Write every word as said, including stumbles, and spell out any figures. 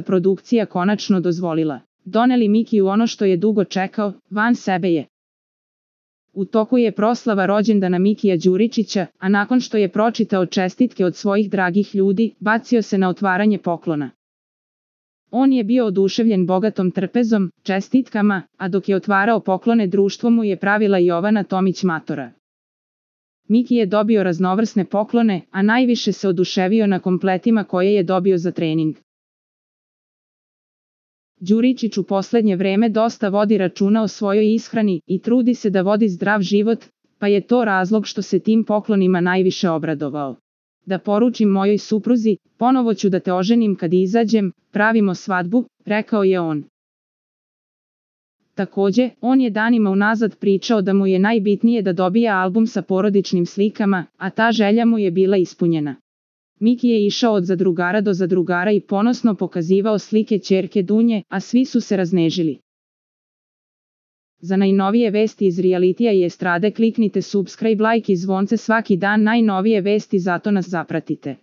produkcija konačno dozvolila. Doneli Mikiju ono što je dugo čekao, van sebe je. U toku je proslava rođendana Mikija Đuričića, a nakon što je pročitao čestitke od svojih dragih ljudi, bacio se na otvaranje poklona. On je bio oduševljen bogatom trpezom, čestitkama, a dok je otvarao poklone društvo mu je pravila Jovana Tomić Matora. Miki je dobio raznovrsne poklone, a najviše se oduševio na kompletima koje je dobio za trening. Đuričić u poslednje vreme dosta vodi računa o svojoj ishrani i trudi se da vodi zdrav život, pa je to razlog što se tim poklonima najviše obradovao. Da poručim mojoj supruzi, ponovo ću da te oženim kad izađem, pravimo svadbu, rekao je on. Takođe, on je danima unazad pričao da mu je najbitnije da dobija album sa porodičnim slikama, a ta želja mu je bila ispunjena. Miki je išao od zadrugara do zadrugara i ponosno pokazivao slike ćerke Dunje, a svi su se raznežili. Za najnovije vesti iz realitija i estrade kliknite subscribe, like i zvonce svaki dan, najnovije vesti, zato nas zapratite.